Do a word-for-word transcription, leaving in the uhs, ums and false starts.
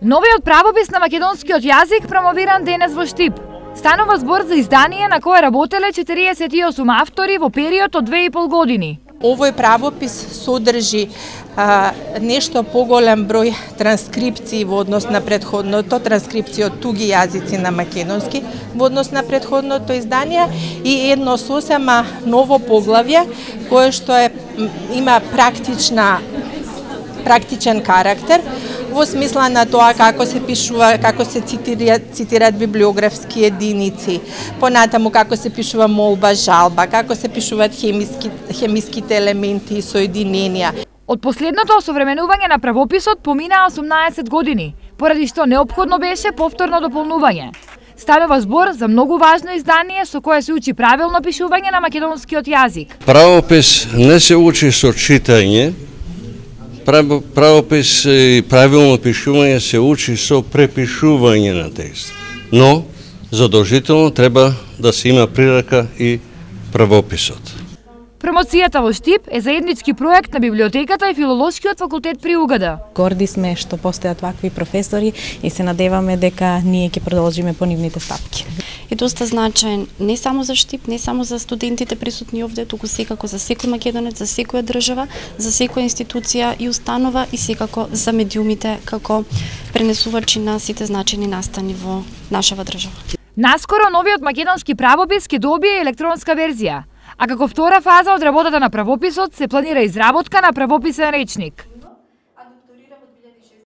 Новиот правопис на македонскиот јазик промовиран денес во Штип. Станува збор за издание на кое работеле четириесет и осум автори во период од две и пол години. Овој правопис содржи а, нешто поголем број транскрипции во однос на претходното, транскрипции од туги јазици на македонски во однос на претходното издание и едно сосема ново поглавје кое што е има практична практичен карактер во смисла на тоа како се пишува, како се цитираат, цитираат библиографски единици, понатаму како се пишува молба, жалба, како се пишуваат хемиски, хемиските елементи и соединенија. Од последното осовременување на правописот поминаа осумнаесет години, поради што неопходно беше повторно дополнување. Станува збор за многу важно издание со кое се учи правилно пишување на македонскиот јазик. Правопис не се учи со читање, правопис и правилно пишување се учи со препишување на текст. Но задолжително треба да се има прирака и правописот. Промоцијата во Штип е заеднички проект на библиотеката и филолошкиот факултет при У Г Д. Горди сме што постојат вакви професори и се надеваме дека ние ќе продолжиме по нивните стапки. Е доста значаен не само за Штип, не само за студентите присутни овде, туку секако за секој македонец, за секоја држава, за секоја институција и установа и секако за медиумите како пренесувачи на сите значајни настани во нашава држава. Наскоро новиот македонски правопис ќе добие електронска верзија, а како втора фаза од работата на правописот се планира изработка на правописен речник.